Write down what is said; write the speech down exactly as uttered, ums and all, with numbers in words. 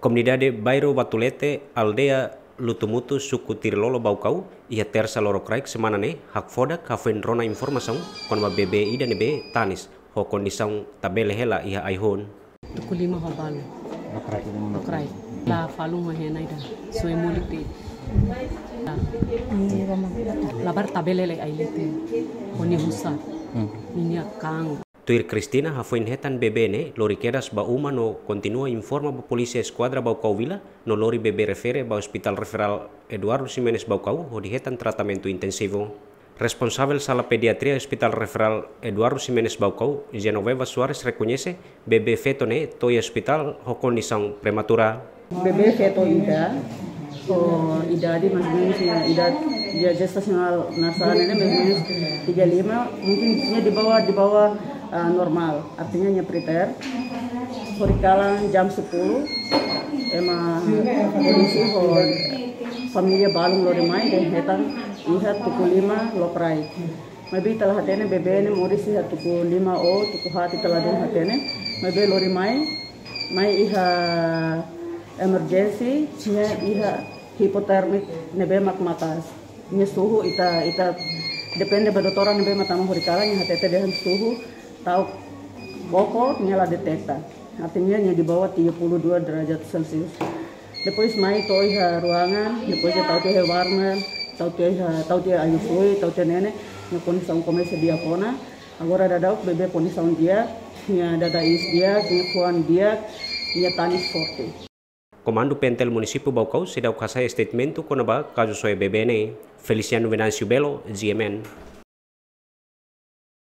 Komunidade Bairru Batulete, aldeia Lutumutu, suku Tirilolo, Baucau, iha Tersa lorokraik semana ne'e hakfodak hafoin rona informasaun kona-ba bebé ida ne'ebé tanis ho kondisaun tabele hela iha ai-hun. Tuku lima ho balu. Lokraik. La falun ho hena ida. Soe molik de'it. La. Labarik tabele hela ai-leten. Ho nia husa. Nia kang. Tuir Cristina, hafoin hetan bebé ne'e, lori kedas ba uma no kontinua informa ba Polísia Eskuadra Baucau Vila, no lori bebé refere ba Hospital Referral Eduardo Ximenes Baucau, hodi hetan tratamentu intensivu. Responsavel sala pediatria Hospital Referral Eduardo Ximenes Baucau, Genoveva Soares, rekoñese bebé feto ne'e to'o iha ospitál ho kondisaun prematura. Bebé feto ida, ho idade mais ou menos, nia idade, nia jestasionál nasaun ne'e mais ou menos tiga lima, mungkin nia di bawah, di bawah, ah, normal, artinya nia preterm. Horikalan jam sepuluh, ema polísia ho família balun lori mai, dehan hetan iha tuku lima lokraik. Maibé ita la hatene bebé ne'e moris iha tuku lima ou tuku haat, ita la dehan hatene. Maibé lori mai, mai iha emergency, nia iha hipotermik ne'ebé mak maka'as. Nia suhu ita, ita depende ba doutora ne'ebé mak tama horikalan, nia hatete dehan suhu ta'uk koko, nia la deteta. Artinya nia di bawah tiga puluh dua derajat Celcius. Depois mai to'o iha ruangan, depois nia tau tiha warmer, tau tiha, tau tiha air fluid, tau tiha ne'e ne'e, nia kondisaun komesa di'ak ona. Agora daudauk bebé kondisaun di'ak, nia dada iis di'ak, nia fuan di'ak, nia tanis forte. Komandu P N T L Munisípiu Baucau seidauk hasai statement kona-ba kazu soe bebé ne'e. Feliciano Venâncio Belo, G M N.